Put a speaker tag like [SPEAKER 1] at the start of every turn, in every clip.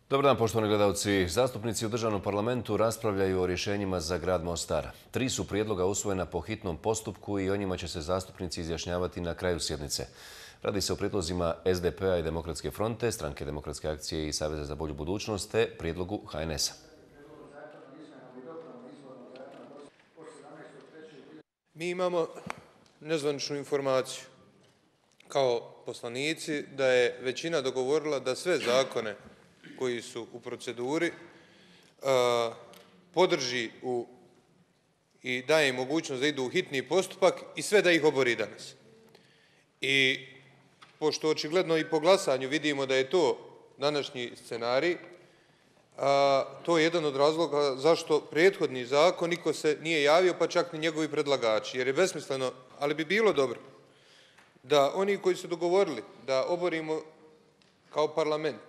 [SPEAKER 1] Dobar dan, poštovani gledalci. Zastupnici u državnom parlamentu raspravljaju o rješenjima za grad Mostar. 3 su prijedloga usvojena po hitnom postupku i o njima će se zastupnici izjašnjavati na kraju sjednice. Radi se o prijedlozima SDP-a i Demokratske fronte, Stranke demokratske akcije i Saveza za bolju budućnost te prijedlogu HNS-a.
[SPEAKER 2] Mi imamo nezvaničnu informaciju kao poslanici da je većina dogovorila da sve zakone koji su u proceduri podrži i daje im mogućnost da idu u hitni postupak i sve da ih obori danas. I pošto očigledno i po glasanju vidimo da je to današnji scenarij, to je jedan od razloga zašto prethodni zakon niko se nije javio, pa čak ni njegovi predlagači, jer je besmisleno, ali bi bilo dobro da oni koji su dogovorili da oborimo kao parlament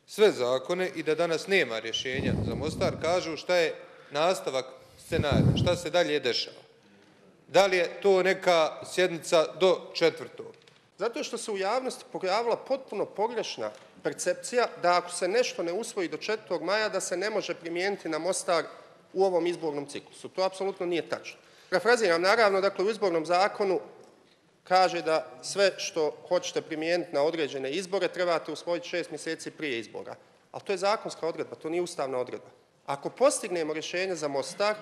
[SPEAKER 2] sve zakone i da danas nema rješenja za Mostar, kažu šta je nastavak scenarija, šta se dalje dešava. Da li je to neka sjednica do 4.
[SPEAKER 3] Zato što se u javnosti pojavila potpuno pogrešna percepcija da ako se nešto ne usvoji do 4. maja da se ne može primijeniti na Mostar u ovom izbornom ciklusu. To apsolutno nije tačno. Parafraziram, naravno, dakle u izbornom zakonu kaže da sve što hoćete primijeniti na određene izbore trebate usvojiti 6 mjeseci prije izbora. Ali to je zakonska odredba, to nije ustavna odredba. Ako postignemo rješenje za Mostar,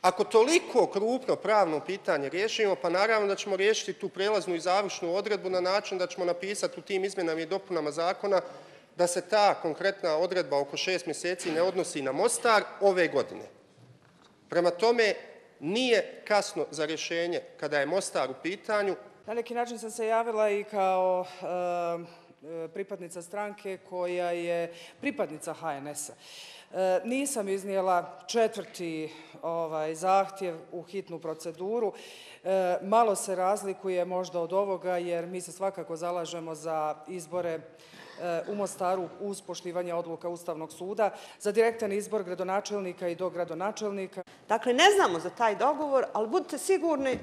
[SPEAKER 3] ako toliko krupno pravno pitanje riješimo, pa naravno da ćemo riješiti tu prijelaznu i završnu odredbu na način da ćemo napisati u tim izmjenama i dopunama zakona da se ta konkretna odredba oko 6 mjeseci ne odnosi na Mostar ove godine. Prema tome, nije kasno za rješenje kada je Mostar u pitanju.
[SPEAKER 4] Na neki način sam se javila i kao pripadnica stranke koja je pripadnica HNS-a. Nisam iznijela 4. zahtjev u hitnu proceduru. Malo se razlikuje možda od ovoga jer mi se svakako zalažemo za izbore u Mostaru uz poštivanje odluka Ustavnog suda, za direktan izbor gradonačelnika i dogradonačelnika.
[SPEAKER 5] Dakle, ne znamo za taj dogovor, ali budite sigurni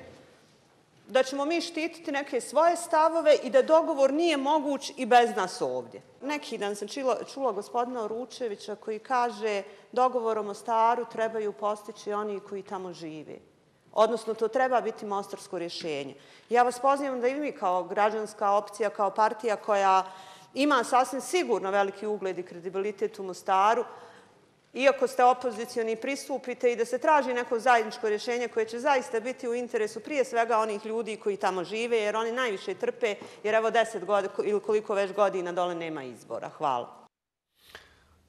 [SPEAKER 5] da ćemo mi štititi neke svoje stavove i da dogovor nije moguć i bez nas ovdje. Neki dan sam čula gospodina Oručevića koji kaže dogovor o Mostaru trebaju postići oni koji tamo žive. Odnosno, to treba biti mostarsko rješenje. Ja vas pozivam da i mi kao građanska opcija, kao partija koja ima sasvim sigurno veliki ugled i kredibilitet u Mostaru, iako ste opozicioni, pristupite i da se traži neko zajedničko rješenje koje će zaista biti u interesu prije svega onih ljudi koji tamo žive, jer oni najviše trpe, jer evo 10 godina ili koliko već godina dole nema izbora. Hvala.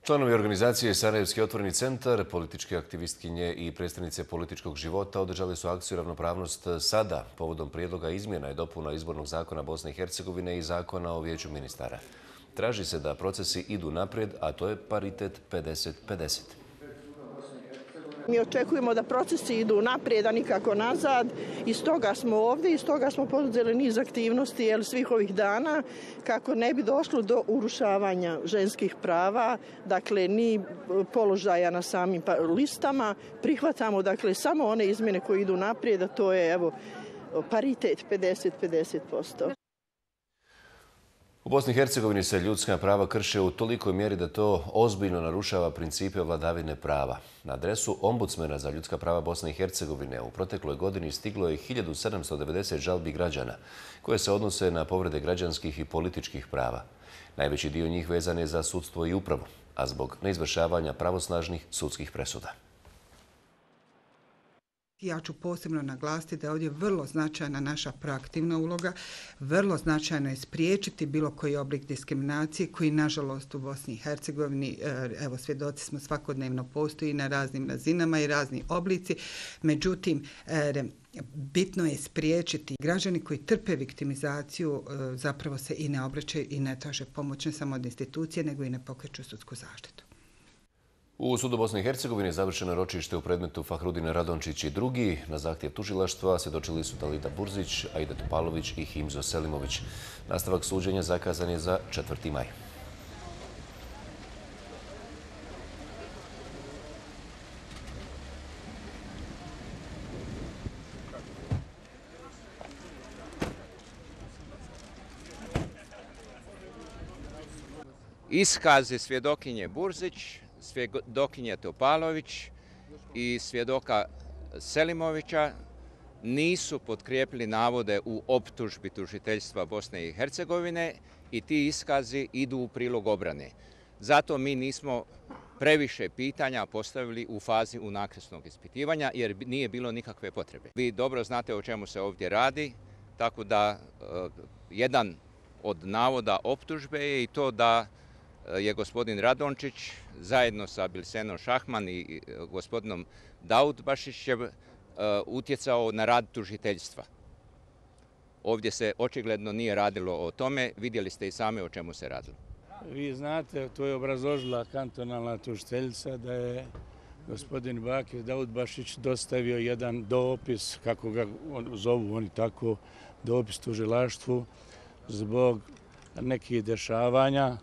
[SPEAKER 1] Članovi organizacije Sarajevski otvoreni centar, političke aktivistkinje i predstavnice političkog života održali su akciju Ravnopravnost sada povodom prijedloga izmjena i dopuna izbornog zakona Bosne i Hercegovine i zakona o vijeću ministara. Traži se da procesi idu naprijed, a to je paritet 50-50.
[SPEAKER 6] Mi očekujemo da procesi idu naprijed, a nikako nazad. I stoga smo ovdje i stoga smo poduzeli niz aktivnosti svih ovih dana kako ne bi došlo do urušavanja ženskih prava, dakle ni položaja na samim listama. Prihvatamo dakle samo one izmjene koje idu naprijed, a to je paritet 50-50%.
[SPEAKER 1] U Bosni i Hercegovini se ljudska prava krše u tolikoj mjeri da to ozbiljno narušava principe vladavine prava. Na adresu ombudsmena za ljudska prava Bosne i Hercegovine u protekloj godini stiglo je 1790 žalbi građana koje se odnose na povrede građanskih i političkih prava. Najveći dio njih vezan je za sudstvo i upravu, a zbog neizvršavanja pravosnažnih sudskih presuda.
[SPEAKER 7] Ja ću posebno naglasiti da je ovdje vrlo značajna naša proaktivna uloga, vrlo značajno je spriječiti bilo koji oblik diskriminacije koji nažalost u Bosni i Hercegovini, evo svjedoci smo svakodnevno postoji na raznim razinama i razni oblici, međutim bitno je spriječiti građani koji trpe viktimizaciju zapravo se i ne obraćaju i ne traže pomoć ne samo od institucije nego i ne pokreću sudsku zaštitu.
[SPEAKER 1] U sudu Bosne i Hercegovine završeno ročište u predmetu Fahrudin Radončić i drugi. Na zahtjev tužilaštva svjedočili su Dalida Burzić, Aida Topalović i Himzo Selimović. Nastavak suđenja zakazan je za 4. maj.
[SPEAKER 8] Iskazi svjedokinje Burzić, svjedokinje Topalović i svjedoka Selimovića nisu potkrijepili navode u optužbi tužiteljstva Bosne i Hercegovine i ti iskazi idu u prilog obrane. Zato mi nismo previše pitanja postavili u fazi unakrsnog ispitivanja jer nije bilo nikakve potrebe. Vi dobro znate o čemu se ovdje radi, tako da jedan od navoda optužbe je i to da je gospodin Radončić zajedno sa Bilsenom Šahman i gospodinom Daudbašićem utjecao na rad tužiteljstva. Ovdje se očigledno nije radilo o tome, vidjeli ste i sami o čemu se radilo.
[SPEAKER 9] Vi znate, to je obrazložila kantonalna tužiteljica da je gospodin Bakir Daudbašić dostavio jedan dopis, kako ga zovu oni tako, dopis tužilaštvu zbog nekih dešavanja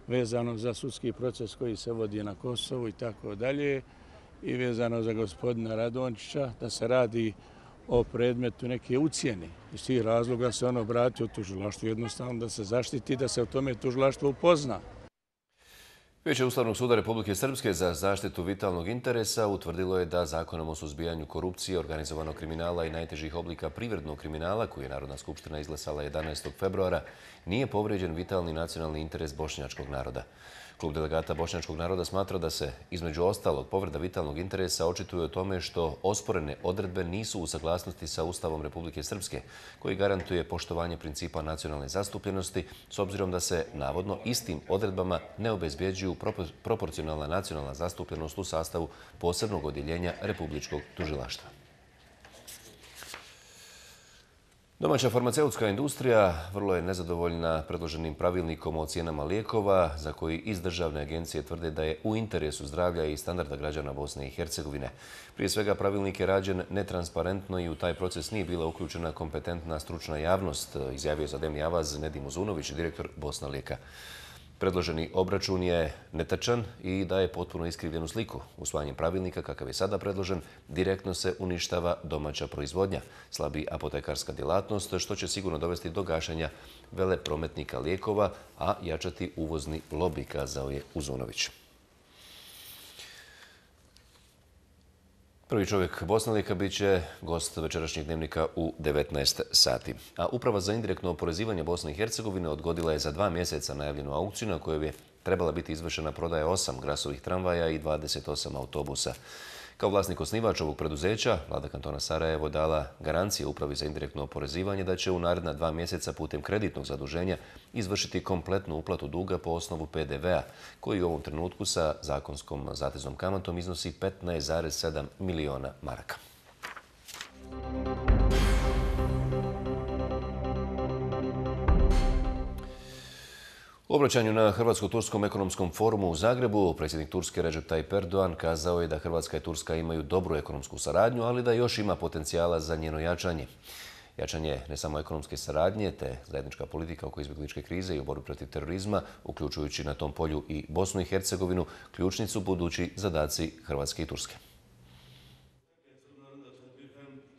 [SPEAKER 9] vezano za sudski proces koji se vodi na Kosovu i tako dalje i vezano za gospodina Radončića da se radi o predmetu neke ucjene. Iz tih razloga se on obratio tužilaštvu jednostavno da se zaštiti, da se o tome tužilaštvo upozna.
[SPEAKER 1] Vijeće Ustavnog suda Republike Srpske za zaštitu vitalnog interesa utvrdilo je da Zakonom o suzbijanju korupcije, organizovanog kriminala i najtežih oblika privrednog kriminala, koji je Narodna skupština izglasala 11. februara, nije povrijeđen vitalni nacionalni interes bošnjačkog naroda. Klub delegata bošnjačkog naroda smatra da se, između ostalog, povreda vitalnog interesa očituje o tome što osporene odredbe nisu u saglasnosti sa Ustavom Republike Srpske, koji garantuje poštovanje principa nacionalne zastupljenosti, s obzirom da se, navodno, istim odredbama ne obezbjeđuju proporcionalna nacionalna zastupljenost u sastavu posebnog odjeljenja Republičkog tužilaštva. Domaća farmaceutska industrija vrlo je nezadovoljna predloženim pravilnikom o cijenama lijekova, za koji iz državne agencije tvrde da je u interesu zdravlja i standarda građana Bosne i Hercegovine. Prije svega, pravilnik je rađen netransparentno i u taj proces nije bila uključena kompetentna stručna javnost, izjavio za Dnevni avaz Nedim Uzunović, direktor Bosna Lijeka. Predloženi obračun je netačan i daje potpuno iskrivljenu sliku. Usvajanjem pravilnika, kakav je sada predložen, direktno se uništava domaća proizvodnja, slabi apotekarska djelatnost, što će sigurno dovesti do gašenja veleprometnika lijekova, a jačati uvozni lobi, kazao je Uzunović. Prvi čovjek Bosna Lijeka bit će gost večerašnjeg dnevnika u 19 sati. A Uprava za indirektno oporezivanje Bosne i Hercegovine odgodila je za 2 mjeseca najavljenu aukciju na kojoj je trebala biti izvršena prodaja 8 Grasovih tramvaja i 28 autobusa. Kao vlasnik osnivač ovog preduzeća, Vlada kantona Sarajevo dala garancije Upravi za indirektno oporezivanje da će u naredna 2 mjeseca putem kreditnog zaduženja izvršiti kompletnu uplatu duga po osnovu PDV-a, koji u ovom trenutku sa zakonskom zateznom kamatom iznosi 15,7 miliona maraka. U obraćanju na Hrvatsko-turskom ekonomskom forumu u Zagrebu, predsjednik Turske Recep Tayyip Erdogan kazao je da Hrvatska i Turska imaju dobru ekonomsku saradnju, ali da još ima potencijala za njeno jačanje. Jačanje ne samo ekonomske saradnje, te zajednička politika oko izbjegličke krize i u borbi protiv terorizma, uključujući na tom polju i Bosnu i Hercegovinu, ključni su budući zadaci Hrvatske i Turske.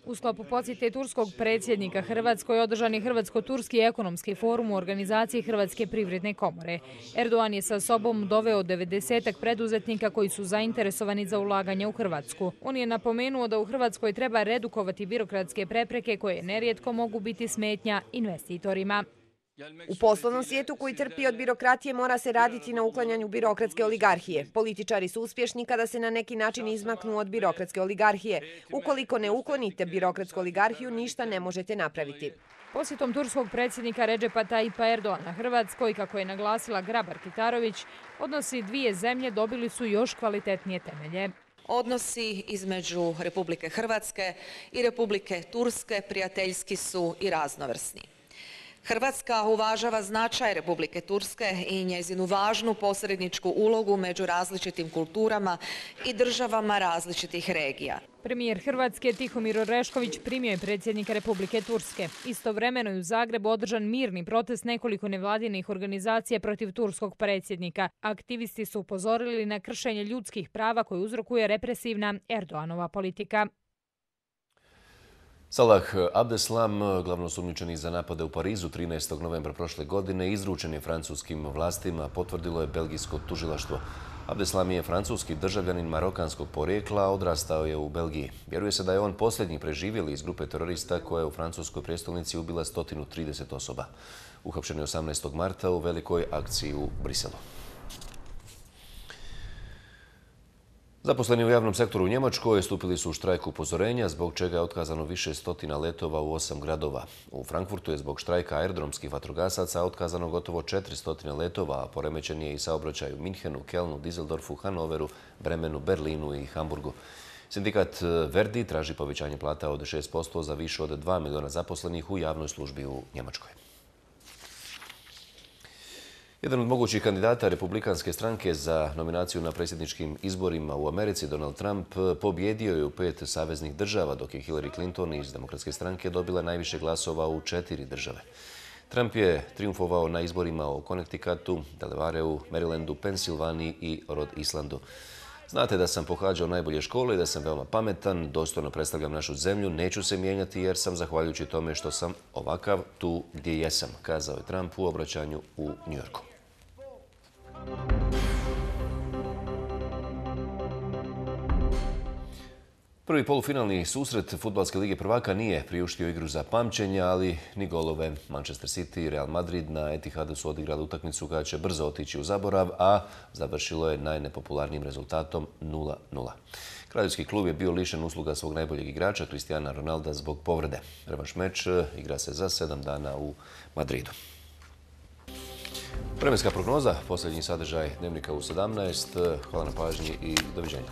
[SPEAKER 10] U sklopu posjete turskog predsjednika Hrvatskoj održan je Hrvatsko-turski ekonomski forum u organizaciji Hrvatske privredne komore. Erdogan je sa sobom doveo 90-ak preduzetnika koji su zainteresovani za ulaganje u Hrvatsku. On je napomenuo da u Hrvatskoj treba redukovati birokratske prepreke koje nerijetko mogu biti smetnja investitorima.
[SPEAKER 11] U poslovnom svijetu koji trpi od birokratije mora se raditi na uklanjanju birokratske oligarhije. Političari su uspješni kada se na neki način izmaknu od birokratske oligarhije. Ukoliko ne uklonite birokratsku oligarhiju, ništa ne možete napraviti.
[SPEAKER 10] Posjetom turskog predsjednika Recepa Tayyipa Erdogana Hrvatskoj, kako je naglasila Grabar-Kitarović, odnosi dvije zemlje dobili su još kvalitetnije temelje.
[SPEAKER 12] Odnosi između Republike Hrvatske i Republike Turske prijateljski su i raznovrsni. Hrvatska uvažava značaj Republike Turske i njezinu važnu posredničku ulogu među različitim kulturama i državama različitih regija.
[SPEAKER 10] Premijer Hrvatske Tihomir Orešković primio je predsjednika Republike Turske. Istovremeno je u Zagrebu održan mirni protest nekoliko nevladinih organizacija protiv turskog predsjednika. Aktivisti su upozorili na kršenje ljudskih prava koje uzrokuje represivna Erdoganova politika.
[SPEAKER 1] Salah Abdeslam, glavno osumnjičeni za napade u Parizu 13. novembra prošle godine, izručen je francuskim vlastima, potvrdilo je belgijsko tužilaštvo. Abdeslam je francuski državljanin marokanskog porijekla, a odrastao je u Belgiji. Vjeruje se da je on posljednji preživjeli iz grupe terorista koja je u francuskoj prijestolnici ubila 130 osoba. Uhapšen je 18. marta u velikoj akciji u Briselu. Zaposleni u javnom sektoru u Njemačkoj stupili su u štrajk upozorenja, zbog čega je otkazano više stotina letova u 8 gradova. U Frankfurtu je zbog štrajka aerodromskih vatrogasaca otkazano gotovo 400 letova, a poremećen je i saobraćaj u Minhenu, Kelnu, Düsseldorfu, Hanoveru, Bremenu, Berlinu i Hamburgu. Sindikat Verdi traži povećanje plata od 6% za više od 2 miliona zaposlenih u javnoj službi u Njemačkoj. Jedan od mogućih kandidata Republikanske stranke za nominaciju na predsjedničkim izborima u Americi, Donald Trump, pobjedio je u 5 saveznih država, dok je Hillary Clinton iz Demokratske stranke dobila najviše glasova u 4 države. Trump je triumfovao na izborima u Connecticutu, Delawareu, Marylandu, Pensilvaniji i Rhode Islandu. Znate da sam pohađao najbolje škole i da sam veoma pametan, dostojno predstavljam našu zemlju, neću se mijenjati jer sam, zahvaljujući tome što sam ovakav, tu gdje jesam, kazao je Trump u obraćanju u Njujorku. Prvi polufinalni susret Fudbalske lige prvaka nije priuštio igru za pamćenje, ali ni golove. Manchester City i Real Madrid na Etihadu su odigrali utakmicu koja će brzo otići u zaborav, a završilo je najnepopularnijim rezultatom 0:0. Kraljevski klub je bio lišen usluga svog najboljeg igrača, Cristiana Ronalda, zbog povrede. Revanš meč igra se za 7 dana u Madridu. Vremenska prognoza, posljednji sadržaj Dnevnika u 17. Hvala na pažnji i doviđenja.